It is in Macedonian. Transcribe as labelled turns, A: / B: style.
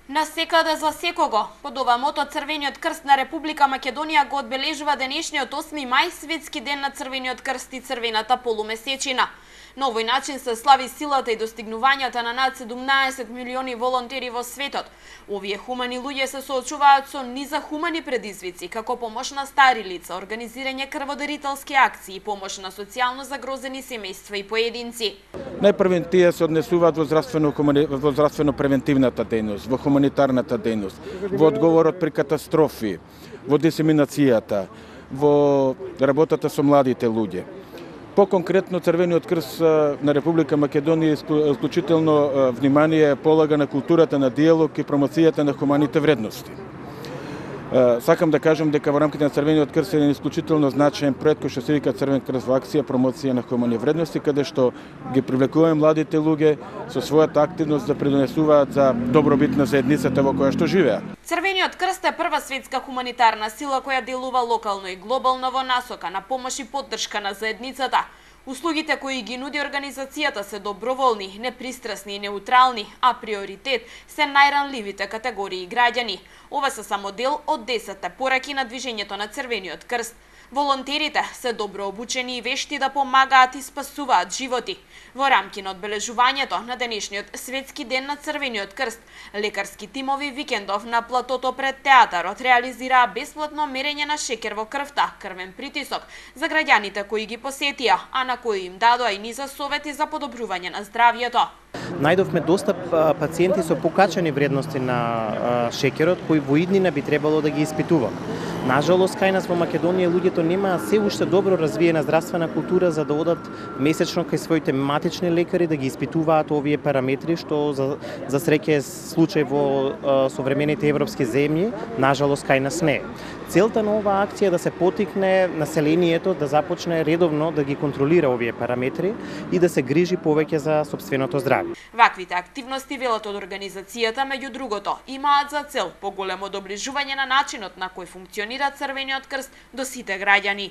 A: На секаде за секого, под ова мото Црвениот крст на Република Македонија го одбележува денешниот 8 мај, светски ден на Црвениот крст и црвената полумесечина. На овој начин се слави силата и достигнувањата на над 17 милиони волонтери во светот. Овие хумани луѓе се соочуваат со низа хумани предизвици, како помош на стари лица, организирање крводарителски акции, помош на социјално загрозени семејства и поединци.
B: Најпрвен тие се однесуваат во здравствено-превентивната дејност, во хуманитарната дејност, во одговорот при катастрофи, во дисеминацијата, во работата со младите луѓе. По-конкретно, Црвениот крст на Република Македонија исклучително внимание полага на културата на диалог и промоцијата на хуманите вредности. Сакам да кажам дека во рамките на Црвениот крст е исклучително значаен проект кој што се вика Црвен крст во акција, промоција на хумани вредности, каде што ги привлекуваме младите луѓе со својата активност да придонесуваат за добробит на заедницата во која што живеат.
A: Црвениот крст е прва светска хуманитарна сила која делува локално и глобално во насока на помош и поддршка на заедницата. Услугите кои ги нуди организацијата се доброволни, непристрасни и неутрални, а приоритет се најранливите категории граѓани. Ова се само дел од 10 пораки на движењето на Црвениот крст. Волонтерите се добро обучени и вешти да помагаат и спасуваат животи. Во рамки на одбележувањето на денешниот светски ден на Црвениот крст, лекарски тимови викендов на платото пред театарот реализираа бесплатно мерење на шеќер во крвта, крвен притисок за граѓаните кои ги посетија, а на кои им дадоа и низа совети за подобрување на здравјето.
C: Најдовме доста пациенти со покачени вредности на шеќерот кои во иднина би требало да ги испитуваме. Нажалост, кај нас во Македонија луѓето немаат се уште добро развиена здравствена култура за да одат месечно кај своите матични лекари да ги испитуваат овие параметри, што за среќа е случај во современите европски земји, нажалост кај нас не е. Целта на оваа акција е да се потикне населението да започне редовно да ги контролира овие параметри и да се грижи повеќе за сопственото здравје.
A: Ваквите активности, велат од организацијата, меѓу другото, имаат за цел поголемо доближување на начинот на кој функционира Црвениот крст до сите граѓани.